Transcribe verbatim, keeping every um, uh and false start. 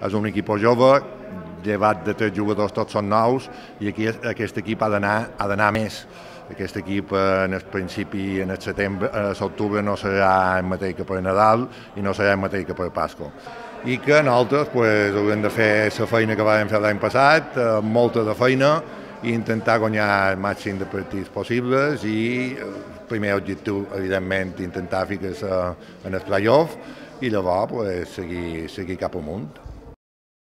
és un equip jove, llevat de tres jugadors tots són nous, i aquí aquest equip ha d'anar ha d'anar més. Aquest equip en el principi, en el setembre, a l'octubre no serà el mateix que per Nadal i no serà el mateix que per Pasqua. I que nosaltres pues, haurem de fer la feina que vam fer l'any passat, molta de feina, i intentar guanyar el màxim de partits possibles i el primer objectiu, evidentment, intentar ficar-se en el play-off i llavors pues, seguir, seguir cap amunt.